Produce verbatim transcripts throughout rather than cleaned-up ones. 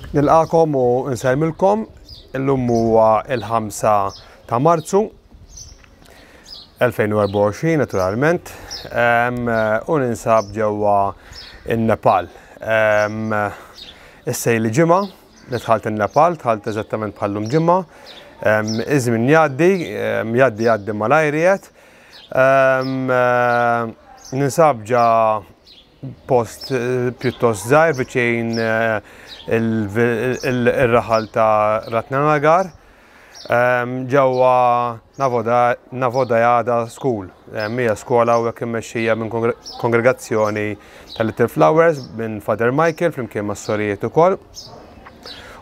Nilqakom u nsellmilkom. Illum huwa il-ħamsa ta' Marzu elfejn u erbgħa u għoxrin naturalment, u ninsab ġewwa in-Nepal. Issa li ġimgħa li dħalt in-Nepal, dħalt eżattament bħallum ġimgħa. Iż-żmien jgħaddi, jgħaddi jgħaddi malajr. Ninsab ġa post pjuttost żgħir viċin il-raħal ta' Ratnanagar, ġewwa Navodayada School. Hija skola u hekk immexxija minn kongregazzjoni ta' Little Flowers minn Father Michael flimkien mas-sorijiet ukoll.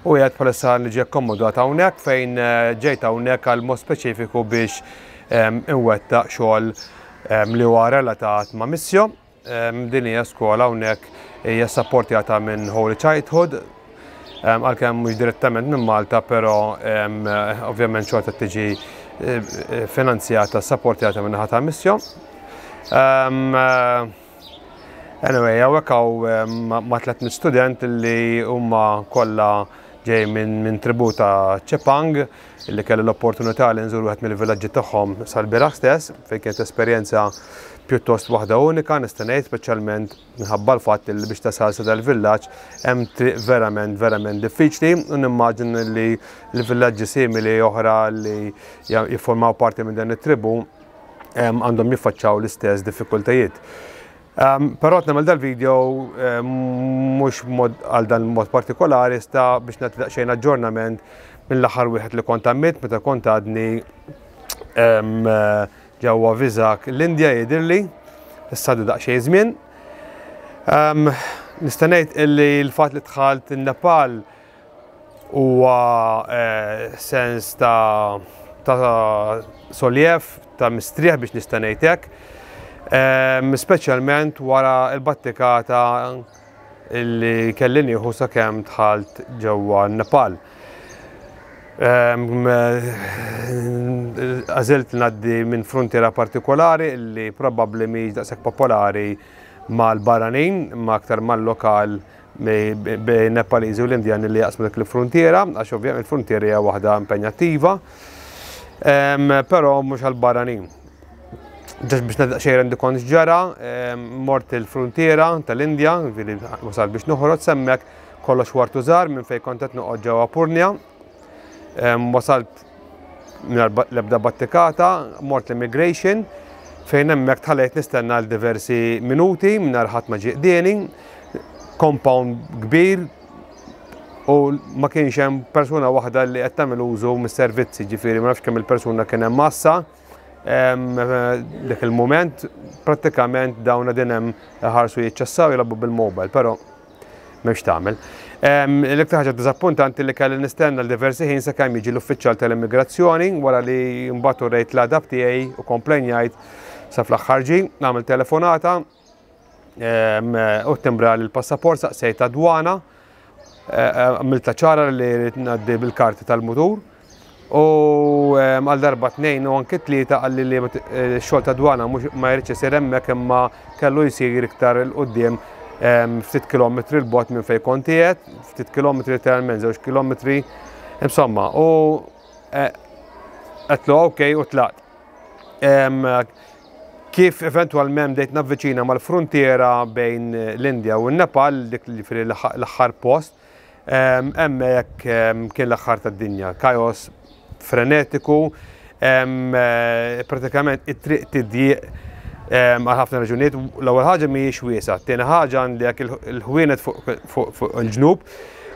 U qiegħed bħalissa niġi akkomodat hawnhekk fejn ġejt hawnhekk għal mod speċifiku biex inwettaq xogħol li huwa relatat ma' Missio. Din hija skola hawnhekk hija sapportjata minn Holy Childhood, għalkemm mhux direttament minn Malta, però ovvjament xorta tiġi finanzjata, sapportjata minn naħa ta' Missio. Anyway, hawnhekk hawn ma' tliet mitt student li huma kollha ġej minn tribu ta' Chepang, li kelli l-opportunità li nżur wieħed mill-villaġġi tagħhom sal-bieraħ stess, fejn kienet esperjenza pjuttost waħda unika, nista' ngħid, speċjalment minħabba l-fatt li biex tasal sa dal-villaġġ hemm triq verament, verament diffiċli, u nimmaġin li l-villaġġi simili oħra li jiffurmaw parti minn dan it-tribu għandhom jiffaċċaw l-istess diffikultajiet. Però qed nagħmel dal-video mhux għal dan mod partikolari, sta biex nagħti daqsxejn aġġornament mill-aħħar wieħed li kont għamilt meta kont għadni ġewwa Vizag l-Indja jidhirli, issa għadu daqsxejn żmien. Nista' ngħid illi l-fatt li dħalt in-Nepal huwa sens ta' ta' soljef, ta' mistrieħ biex nista' ngħid hekk. Speċjalment wara l-battikata illi kelli nieħu sakemm dħalt ġewwa n-Nepal. Għażilt ngħaddi minn frontiera partikolari illi probabbli mhix daqshekk popolari mal-barranin, ma aktar mal-lokal bejn Nepaliżi u l-Indjani li jaqsmu dik il-frontiera, għax ovvjament il-frontiera hija waħda impenjattiva, però mhux għall-barranin. Ġax biex nagħti xejn rendi kont x'ġara, mort il-frontiera tal-Indja, ġifieri wasal biex noħroġ semmek kollox wartu żgħar minn fejn kont qed noqgħod ġewwa Purnia. Wasalt mingħajr l-ebda battikata, mort l-immigration, fejn hemmhekk tħallejt nistenna għal diversi minuti mingħajr ħadd ma ġie qdieni, compound kbir u ma kienx hemm persuna waħda li qed tagħmel użu mis-servizzi, ġifieri ma nafx kemm il-persuna kien hemm massa. Dak il-mument prattikament dawn qegħdin hemm ħarsu jiċċassaw jilagħbu bil-mobile, però m'hemmx tagħmel. L-iktar ħaġa diżappuntanti li kelli nistenna l-diversi ħin sakemm jiġi l-uffiċjal tal-immigrazzjoni wara li mbagħad urejt l-adab tiegħi u komplenjajt sa fl-aħħar ġie, nagħmel telefonata u timbra l-passaport saqsejt dwana, għamilta ċara li rrid ngħaddi bil-karti tal-mutur. U għal darba tnejn u anke tlieta qalli li x-xogħol ta' dwana mhux ma jridx isir hemmhekk imma kellu jsir iktar il quddiem ftit kilometri l bogħod minn fejn kont qiegħed, ftit kilometri literalment żewġ kilometri, insomma, u għedtlu ok u tlaqt. Kif eventwalment bdejt navviċina mal-frontiera bejn l-Indja u n-Nepal, dik li fil l-aħħar post, hemmhekk kien l-aħħar tad-dinja, kaos frenetiku, pratikament it-triq tidjieq għal ħafna raġunijiet. L-ewwel ħaġa mhijiex wiesgħa, t-tieni ħaġa għandek il-ħwienet fuq il-ġnub,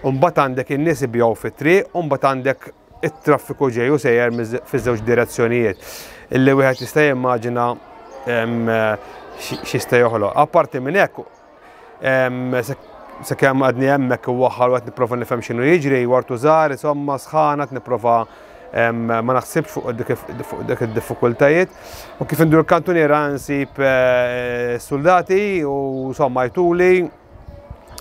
u mbagħad għandek in-nies ibigħu fit-triq, u mbagħad għandek it-traffiku ġej u sejjer fiż-żewġ direzzjonijiet. Illi wieħed jista' jimmaġina x'jista' joħloq. Apparti minn hekk, sakemm għadni hemmhekk u waħħal u qed nipprova nifhem x'inhu jiġri, wartu żgħar, insomma sħana qed nipprova ma naħsibx fuq dik id-diffikultajiet. U kif indur kantuniera nsib soldati u insomma jtuli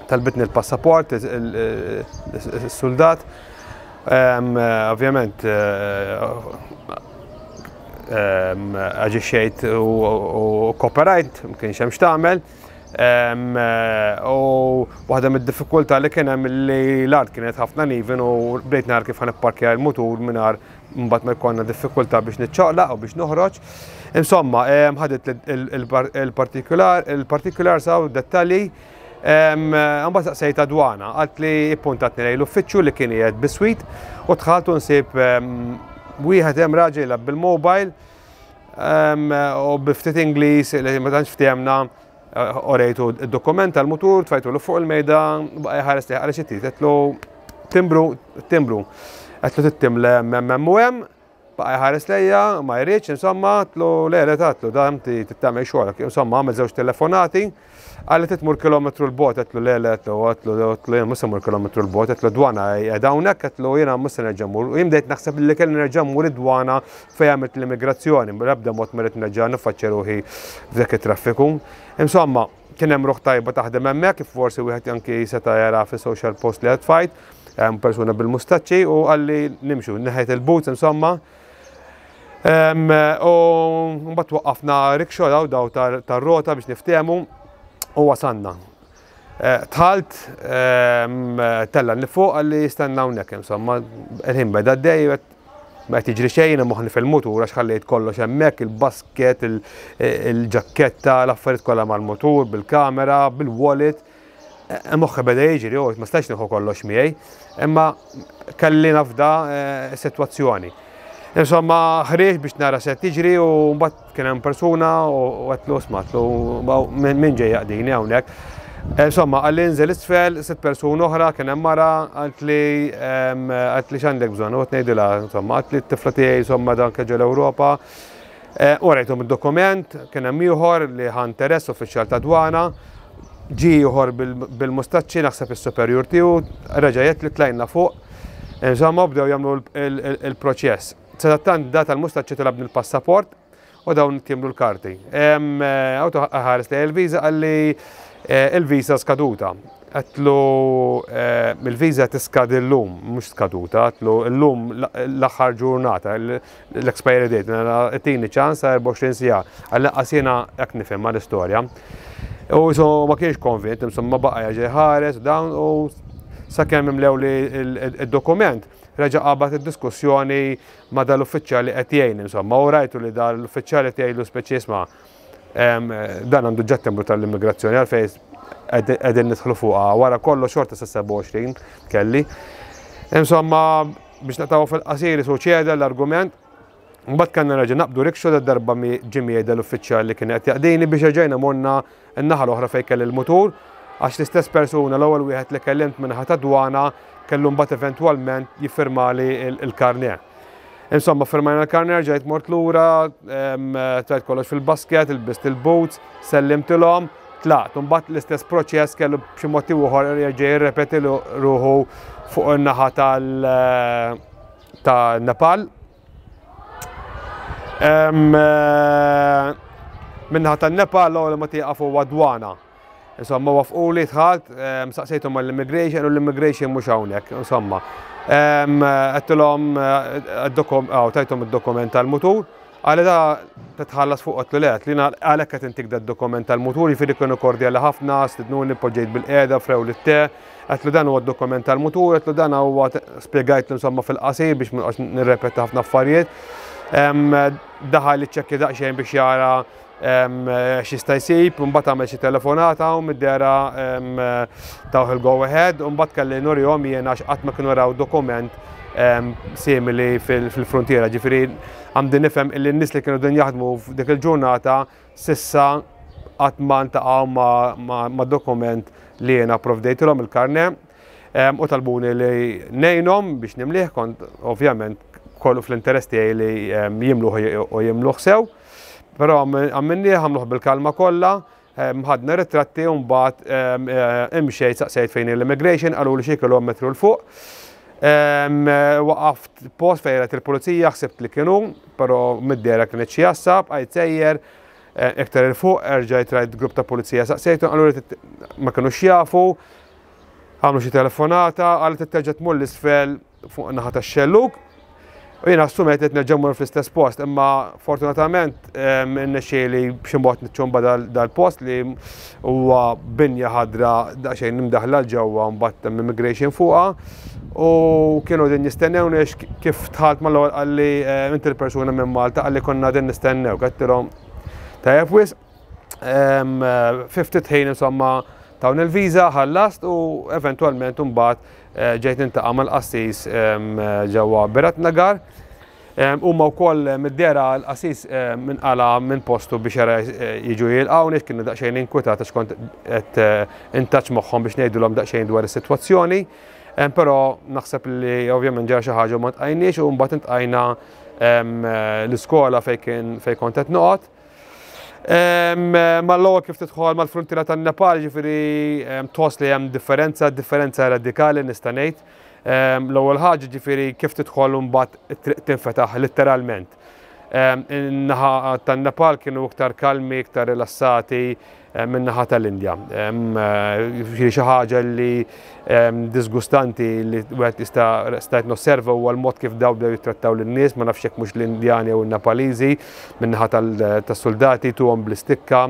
talbitni l-passaport il-soldat. Ovvjament aġixxejt u kooperajt, ma kienx hemm x'tagħmel. U waħda mid-diffikultà li kien hemm li l-art kienet ħafna uneven u bdejt nara kif ħa nipparkja l-mutur mingħajr mbagħad ma jkollna diffikultà biex niċċaqlaq u biex noħroġ. Insomma, ħadet il-partikular, il-partikular saw dettalji. Mbagħad saqsejt dwana, għalt li ippuntatni lejn l-uffiċċju li kien qiegħed biswit u dħalt u nsib wieħed hemm raġel jilgħab bil-mobile u bi ftit Ingliż li ma tantx ftehemna, urejtu id-dokument tal-mutur, tfajtu 'l fuq il-mejda, baqa' jħares li għal xi trid, għedtlu timbru, timbru. Għedtlu tittimle hemm u hemm, baqa' jħares lejja, ma jridx, insomma, għedtlu le le għedtlu da inti tagħmel xogħolok. Insomma, għamel żewġ telefonati, qalli trid tmur kilometru 'l bogħod, għedtlu le le, għedtlu għedtlu għedtlu jien mhux se mmur kilometru 'l bogħod, għedtlu dwana qiegħda hawnhekk, għedtlu jiena mhux se nerġa' mmur. U jien bdejt naħseb li kelli nerġa' mmur id-dwana fejn għamilt l-immigrazzjoni, bl-ebda mod ma rrid nerġa' niffaċċja ruħi f'dak it-traffiku. Insomma, kien hemm ruħ tajba taħdem hemmhekk, kif forsi wieħed anki seta' jara fis-social post li qed tfajt, hemm persuna bil-mustaċċi u qalli nimxu, neħħejt il-boots, insomma. U mbagħad waqqafna rickshaw daw daw tar-rota biex niftehmu u wasanna. Dħalt, tellagħni fuq, qalli jistenna hawnhekk, insomma, il-ħin beda għaddej, ma qed jiġri xejn, moħħni fil-mutur għax ħallejt kollox hemmhekk, il-basket, il-ġaketta, l-affarijiet kollha mal-mutur, bil-kamera, bil-wallet. Moħħi beda jiġri, u ma stax nieħu kollox miegħi, imma kelli nafda sitwazzjoni. Insomma, ħriġt biex nara se tiġri u mbagħad kien hemm persuna u għedtlu isma', għedtlu min ġej jaqdini hawnhekk. Insomma, qalli nżel isfel, sitt persuna oħra, kien hemm mara, qaltli qaltli x'għandek bżonn, u qed ngħidilha, insomma, qaltli t-tifla tiegħi, insomma, dan ġew l-Ewropa. Urejthom id-dokument, kien hemm ieħor li ħa interess, uffiċjal ta' dwana, ġie ieħor bil-mustaċċi, naħseb is-superjur tiegħu, reġa' jgħid li tlajna fuq. Insomma, bdew jagħmlu il-proċess. Sadattant da tal-mustaċċi talabni l-passaport u dawn timlu l-karti. Għawtu ħares li il-viza, qalli il-viza skaduta. Għedtlu il-viza tiskadi l-lum, mhux skaduta, għedtlu l-lum l-aħħar ġurnata, l-expiry date, tini ċans erbgħa u għoxrin siegħa, għal jiena hekk nifhem l-istorja. U so ma kienx konvint, insomma, baqa' jerġa' ħares dawn u sakemm imlew li il-dokument, reġa' qabad id-diskussjoni ma' dal-uffiċjali qed jgħin, insomma, u rajtu li dal-uffiċjali qed jgħidlu speċi isma' dan għandu ġa timbru tal-immigrazzjoni, għalfejn qegħdin nidħlu fuqha, wara kollox xorta sa sebgħa u għoxrin kelli. Insomma, biex naqtgħu fil-qasir, su ċeda l-argument. Mbagħad kellna nerġa' naqbdu rickshaw, darba ġie miegħi dal-uffiċjal li kien qed jaqdini biex erġajna morna n-naħa l-oħra fejn kelli l-mutur, għax l-istess persuna, l-ewwel wieħed li kellimt min-naħa ta' dwana, kellu mbagħad eventwalment jiffirmali il-karnet. Insomma, firmajna l-karnet, ġejt mort lura, tfajt kollox fil-basket, ilbist il-boots, sellimtilhom, tlaqt. Mbagħad l-istess proċess kellu b'xi mod ieħor jerġa' jirrepeti ruħu fuq in-naħa tal-Nepal. Min-naħa tan-Nepal l-ewwel ma tieqaf huwa dwana. Insomma, waqfuli, dħalt, saqsejthom għall-immigration u l-immigration mhux hawnhekk, insomma. Għedtilhom, tajthom id-dokument tal-mutur, qalli da titħallas fuq, għedtlu le, li għalhekk qed intik da dokument tal-mutur, jiġifieri kienu kordjali ħafna, stidnuni, poġġejt bilqiegħda, offrewli t-te, għedtlu dan huwa d-dokument tal-mutur, għedtlu dan huwa, spjegajtlu insomma fil-qasir biex ma noqgħodx nirrepeti ħafna affarijiet. Daħal iċċekkja daqsxejn biex jara x'jista' jsib, mbagħad għamel xi telefonata u mid-dehra tawh il-go ahead, u mbagħad kelli nurihom jien għax qatt ma kienu raw dokument simili fil-frontiera. Ġifieri għandi nifhem illi n-nies li kienu din jaħdmu f'dik il-ġurnata s'issa qatt ma ntaqgħu ma' dokument li jiena provdejtilhom, il-karne, u talbuni li ngħinhom biex nimlih, kont ovvjament kollu fl-interess tiegħi li jimluh u jimluh sew. Però għamminni għamluh bil-kalma kollha, ħadna ritratti u mbagħad imxejt, saqsejt fejn l-immigration, qalu li xi kilometru 'l fuq. Waqaft post fejn il-pulizija, ħsibt li kienu, però mid-dehra kienet xi għassa, bqajt sejjer iktar 'il fuq, erġajt rajt grupp ta' pulizija, saqsejtu, qalu li ma kinux jafu, għamlu xi telefonata, qalu terġa' tmur 'l isfel fuq naħa tax-xellug. U jiena assumejt qed nerġa' mmur fl-istess post, imma fortunatament irnexxieli b'xi mod niċċumba dal-post li huwa binja ħadra daqsxejn imdaħla 'l ġewwa, mbagħad hemm immigration fuqha. U kienu din jistennewni, kif dħalt mal-ewwel qalli, "Inti l-persuna minn Malta?" Qalli, "Konna din nistennew." Għedtilhom, "Tajjeb wisq." Fi ftit ħin, insomma, tawni il-viża, ħallast u eventwalment mbagħad eh, ġejt niltaqa' mal-qassis ġewwa Biratnagar. Huma wkoll mid-dehra l-qassis inqala' minn postu biex jara eh, jiġu jilqawni, kienu daqsxejn inkwitat għax kont qed eh, in touch magħhom biex ngħidulhom daqsxejn dwar is-sitwazzjoni. Però naħseb li ovvjament ġara xi ħaġa u ma ltqajniex u mbagħad iltqajna l-iskola fejn fejn kont qed noqgħod. Mal-ewwel kif tidħol mal-frontiera tan-Nepal, ġifieri tħoss li hemm differenza, differenza radikali nista' ngħid. L-ewwel ħaġa, ġifieri, kif tidħol mbagħad it-triq tinfetaħ letteralment. In-naħa tan-Nepal kienu iktar kalmi, iktar rilassati min-naħa tal-Indja. Xi ħaġa li disgustanti li wieħed jista' stajt nosserva huwa l-mod kif daw bdew jittrattaw lin-nies, ma nafx jekk mhux l-Indjani u n-Nepaliżi, min-naħa tas-soldati tuhom bl-istikka,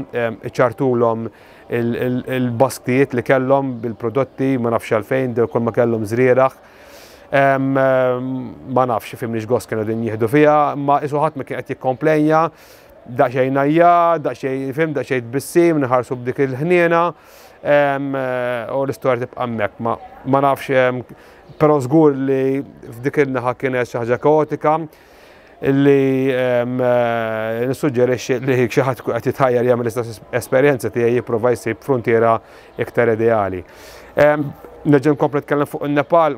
iċarrtulhom il-basktijiet li kellhom bil-prodotti, ma nafx għalfejn, kull ma kellhom żrieragħ. Ma nafx fimni x'gost kienu din jieħdu fiha, ma isu ħadd ma kien qed jikkomplejnja, daqsxejn najja, daqsxejn fim, daqsxejn tbissim, nħarsu b'dik il-ħniena, u l-istorja tibqa' hemmhekk. Ma nafx, però żgur li f'dik il-naħa kienet xi ħaġa kaotika li nissuġġerixxi li xi ħadd qed jitħajjar jagħmel l-istess esperjenza tiegħi jipprova jsib frontiera iktar ideali. Nerġa' nkompli nitkellem fuq in-Nepal,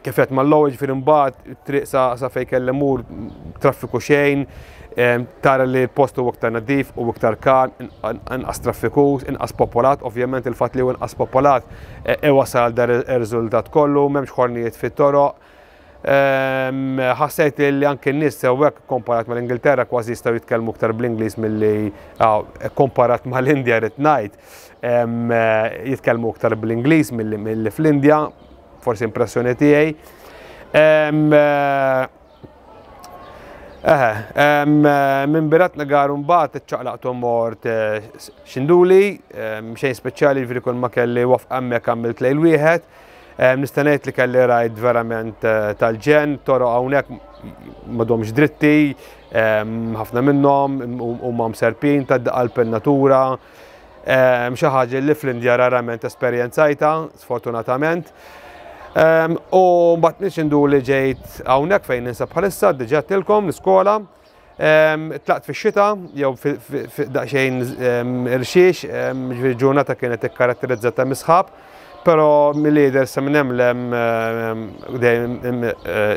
kif qed mal-ewwel, ġifieri, mbagħad triq sa sa fejn kelli mur, traffiku xejn, tara li l-post huwa iktar nadif u iktar kalm, inqas traffikus, inqas popolat, ovvjament il-fatt li huwa inqas popolat iwasal dar ir-riżultat kollu, m'hemmx ħornijiet fit-toroq. Ħassejt li anke n-nies sewwek komparat mal-Ingilterra kważi jistgħu jitkellmu iktar bl-Ingliż milli komparat mal-Indja, rrid ngħid, jitkellmu iktar bl-Ingliż milli fl-Indja, forsi impressjoni tiegħi. Eħe, minn Biratnagar mbagħad iċċaqlaqt u mort Sindhuli, xejn speċjali, ġifieri kull ma kelli waqf hemmhekk għamilt lejl wieħed. Nista' ngħid li kelli ride verament tal-ġenn, toroq hawnhekk m'għadhomx dritti, ħafna minnhom huma mserpin ta' qalb in-natura. Xi ħaġa li fl-Indja rarament esperjenzajta, sfortunatament. U mbagħad minn Sindhuli ġejt hawnhekk fejn ninsab bħalissa, diġà għedtilkom, l-iskola. Tlaqt fix-xita jew daqsxejn irxiex, ġifieri ġurnata kienet ikkaratterizzata mis-sħab, però mill-lider sa minn hemm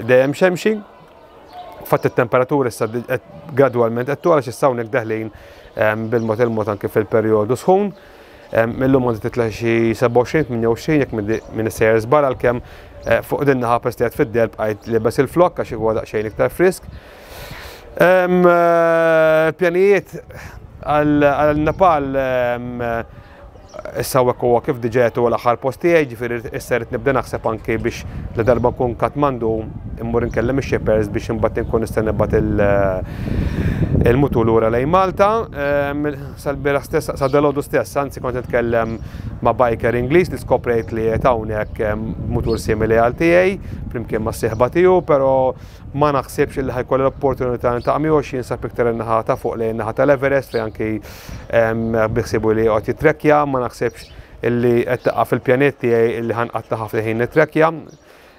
dejjem xemxi. Fatt it-temperatura issa gradwalment qed togħla, issa hawnhekk deħlin bil-mod il-mod anke fil-perjodu sħun. Millum għandi titla' xi sebgħa u għoxrin, tmienja u għoxrin jekk minn sejjer żball, għalkemm fuq din naħa peress fid-del bqajt libes il-flok għax huwa daqsxejn iktar frisk. Pjanijiet għal Nepal issa hekk huwa kif diġà huwa l-aħħar post tiegħi, ġifieri issa rrid nibda naħseb anke biex la darba nkun Katmandu immur inkellem ix-shippers biex imbagħad inkun nista' nibgħat il-mutur lura lejn Malta. Sal-bieraħ stess, sa dalgħodu stess, anzi, kont nitkellem ma' biker Ingliż li skoprejt li qed hawnhekk mutur simili għal tiegħi flimkien ma' sieħba tiegħu, però ma naħsibx li ħa jkolli l-opportunità niltaqa' miegħu għax jinsab iktar in-naħa ta' fuq, lejn naħa tal-Everest, fejn anki biħsibu li qed jitrekkja, ma naħsibx illi qed taqa' fil-pjanijiet tiegħi illi ħa nqatta' ħafna ħin nitrekkja.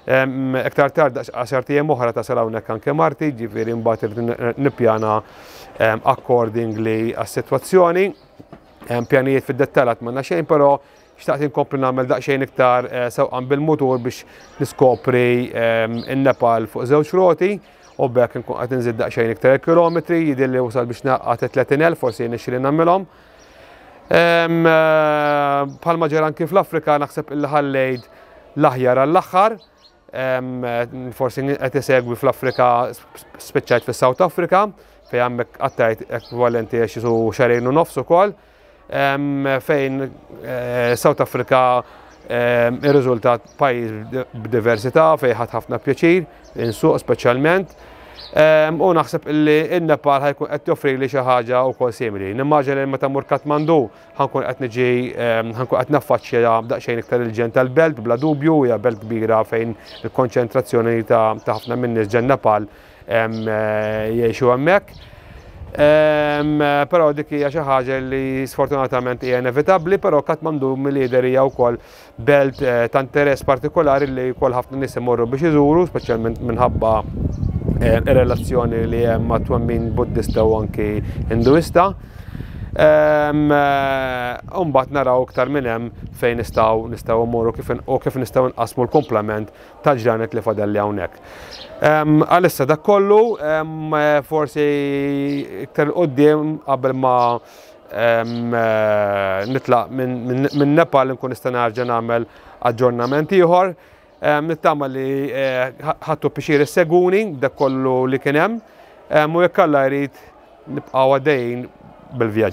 Iktar tard, għaxart ijiem oħra, tasal hawnhekk anke marti, ġifieri mbagħad irrid nippjana accordingly għas-sitwazzjoni. Pjanijiet fid-dettall m'għandna xejn, però xtaqt inkompli nagħmel daqsxejn iktar sewqan bil-mutur biex niskopri in-Nepal fuq żewġ roti u b'hekk nkun qed inżid daqsxejn iktar kilometri, jidhirli wasal biex nagħqad tletin elf, forsi nixtri nagħmilhom. Bħalma ġara anki fl-Afrika, naħseb illi ħallejt l-aħjar għall-aħħar. Forsi qed isegwi, fl-Afrika spiċċajt fis-South Africa fejn hemmhekk qattajt ekwivalenti għax xi xahrejn u nofs ukoll, fejn South Africa Ir-riżultat pajjiż b'diversità fejn ħadt ħafna pjaċir, insuq speċjalment. U naħseb li in-Nepal ħa jkun qed joffri li xi ħaġa wkoll simili. Nimmaġina li meta mmur Katmandu ħa nkun qed niġi ħa nkun qed naffaċċja daqsxejn iktar il-ġenn tal-belt, bla dubju, hija belt kbira fejn il-konċentrazzjoni ta' ħafna min-nies ġen Nepal jgħixu hemmhekk. Però dik hija xi ħaġa li sfortunatament hija inevitabbli, però Katmandu mill-jidher hija wkoll belt eh, ta' interess partikolari li wkoll ħafna nies imorru biex iżuru, speċjalment minħabba eh, ir-relazzjoni li hemm ma' twemmin Buddista u anki Hinduista. Eh, mbagħad naraw iktar minn hemm fejn nistgħu nistgħu mmorru kif u kif nistgħu nqasmu l-komplement tal-ġranet li fadalli hawnhekk. Għalissa dak kollu, forsi iktar quddiem qabel ma nitlaq minn Nepal nkun nista' nerġa' nagħmel aġġornament ieħor. Nittama li eh, ħadtu pjaċir issegwuni dak kollu li kien hemm u jekk Alla jrid nibqgħu għaddejjin bil-vjaġġ.